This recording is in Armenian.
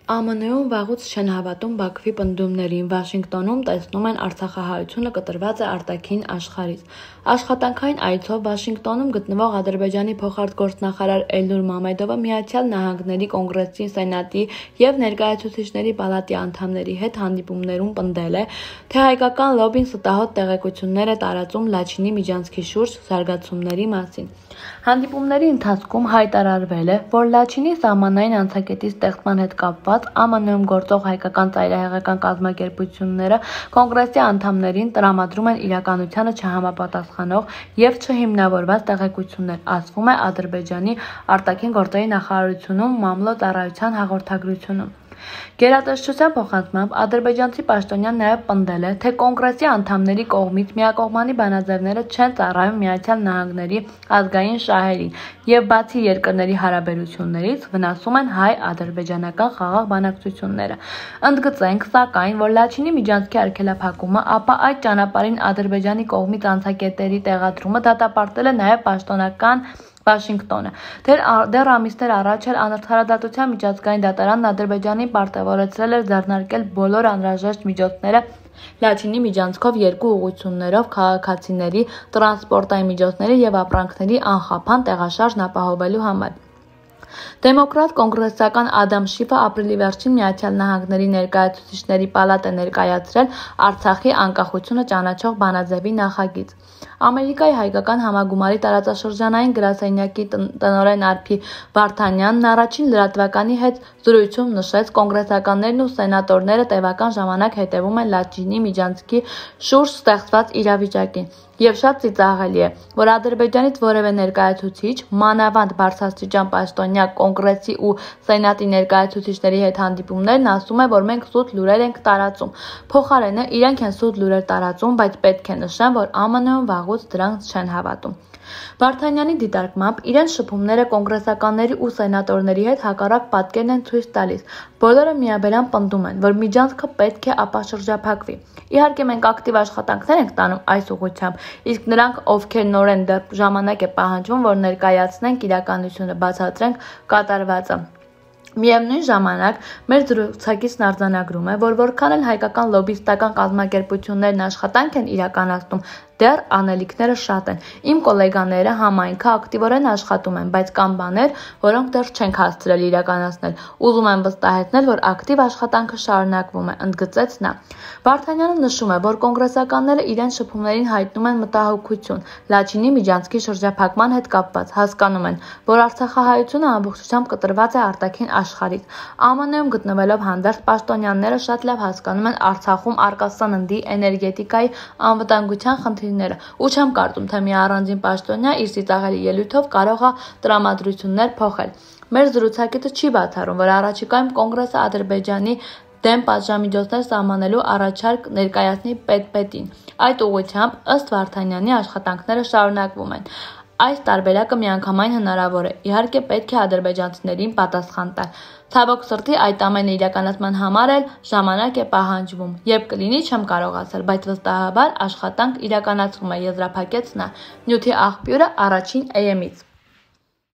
ԱՄՆ-ում վաղուց չեն հավատում Բաքվի պնդումներին, Վաշինգտոնում տեսնում են Արցախահայությունը կտրված է արտաքին աշխարհից։ Աշխատանքային այցով Վաշինգտոնում գտնվող Ադրբեջանի փոխարտգործնախարար Էլնուր Մամեդովը Միացյալ Նահանգների Կոնգրեսի, Սենատի և Ներկայացուցիչների պալատի անդամների հետ հանդիպումներում պնդել է, թե հայկական լոբբին ստահոդ տեղեկություններ է տարածում Լաչինի միջանցքի շուրջ զարգացումների մասին։ Հանդիպումների ընթացքում հայտարարվել է, որ Լաչինի սահմանային անցակետի ստեղծման հետ կապված ԱՄՆ-ում գործող հայկական ծայրահեղական կազմակերպությունները Կոնգրեսի անդամներին տրամադրում են իրականությանը չհամապատասխանող և չհիմնավորված տեղեկություններ, ասվում է Ադրբեջանի արտաքին գործերի նախարարությունում մամլո ծառայության հաղորդագրությունում։ Գերատեսչության փոխանցմամբ ադրբեջանցի պաշտոնյան նաև պնդել է, թե Կոնգրեսի անդամների կողմից միակողմանի բանաձևները չեն ծառայում Միացյալ Նահանգների ազգային շահերին և բացի երկրների հարաբերություններից վնասում են հայ-ադրբեջանական խաղաղ բանակցությունները։ Ընդգծենք, սակայն, որ Լաչինի միջանցքի արգելափակումը, ապա այդ ճանապարհին Ադրբեջանի կողմից անցակետերի տեղադրումը դատապարտել է նաև պաշտոնական Վաշինգտոնը։ Դեռ ամիսներ առաջ էլ Արդարադատության միջազգային դատարանն Ադրբեջանին պարտավորեցրել էր ձեռնարկել բոլոր անհրաժեշտ միջոցները Լաչինի միջանցքով երկու ուղղություններով քաղաքացիների, տրանսպորտային միջոցների և ապրանքների անխափան տեղաշարժն ապահովելու համար։ Դեմոկրատ կոնգրեսական Ադամ Շիֆը ապրիլի վերջին Միացյալ Նահանգների Ներկայացուցիչների պալատ է ներկայացրել Արցախի անկախությունը ճանաչող բանաձևի նախագիծ։ Ամերիկայի հայկական համագումարի տարածաշրջանային գրասենյակի տնօրեն Արփի Վարդանյանն առաջին լրատվականի հետ զրույցում նշեց, կոնգրեսականներն ու սենատորները տևական ժամանակ հետևում են Լաչինի միջանցքի շուրջ ստեղծված իրավիճակին, և շատ ծիծաղելի է, որ Ադրբեջանից որևէ ներկայացուցիչ, մանավանդ բարձրաստիճան պաշտոնյա Կոնգրեսի ու Սենատի ներկայացուցիչների հետ հանդիպումներն ասում է, որ մենք սուտ լուրեր ենք տարածում։ Փոխարենը իրենք են սուտ լուրեր տարածում, բայց պետք է նշեմ, որ ԱՄՆ-ում վաղուց դրանց չեն հավատում։ Վարդանյանի դիտարկմամբ իրենց շփումները կոնգրեսականների ու սենատորների հետ հակառակ պատկերն են ցույց տալիս։ Բոլորը միաբերան պնդում են, որ միջանցքը պետք է ապաշրջափակվի։ Իհարկե մենք ակտիվ աշխատանքներ ենք տանում այս ուղղությամբ, իսկ նրանք, ովքեր նոր են, դեռ ժամանակ է պահանջվում, որ ներկայացնենք իրականությունը, բացատրենք կատարվածը։ Միևնույն ժամանակ, մեր զրուցակիցն արձանագրում է, որ որքան էլ հայկական լոբբիստական կազմակերպություններն աշխատանք են իրականացնում, դեռ անելիքները շատ են։ Իմ կոլեգաները համայնքը ակտիվորեն աշխատում են, բայց կան բաներ, որոնք դեռ չենք հասցրել իրականացնել։ Ուզում եմ վստահեցնել, որ ակտիվ աշխատանքը շարունակվում է, ընդգծեց նա։ Վարդանյանը նշում է, որ կոնգրեսականները իրենց շփումներին հայտնում են մտահոգություն Լաչինի միջանցքի շրջափակման հետ կապված, հասկանում են, որ Արցախահայությունը ամբողջությամբ կտրված է արտաքին աշխարհից։ ԱՄՆ-ում գտնվելով հանդերձ պաշտոնյաները շատ լավ հասկանում են Արցախում առկա սննդի, էներգետիկայի, անվտանգության խնդիրները, ու չեմ կարծում, թե մի առանձին պաշտոնյա իր ծիծաղելի ելույթով կարող է տրամադրություններ փոխել։ Մեր զրուցակիցը չի բացառում, որ առաջիկայում Կոնգրեսը Ադրբեջանի դեմ պատժամիջոցներ սահմանելու առաջարկ ներկայացնի պետին։ Այդ ուղղությամբ, ըստ Վարդանյանի, աշխատանքները շարունակվում են։ Այս տարբերակը միանգամայն հնարավոր է, իհարկե պետք է ադրբեջանցիներին պատասխան տալ։ Ցավոք սրտի այդ ամենը իրականացման համար էլ ժամանակ է պահանջվում։ Երբ կլինի, չեմ կարող ասել, բայց վստահաբար աշխատանք իրականացվում է, եզրափակեց նա։ Նյութի աղբյուրը առաջին AM-ից։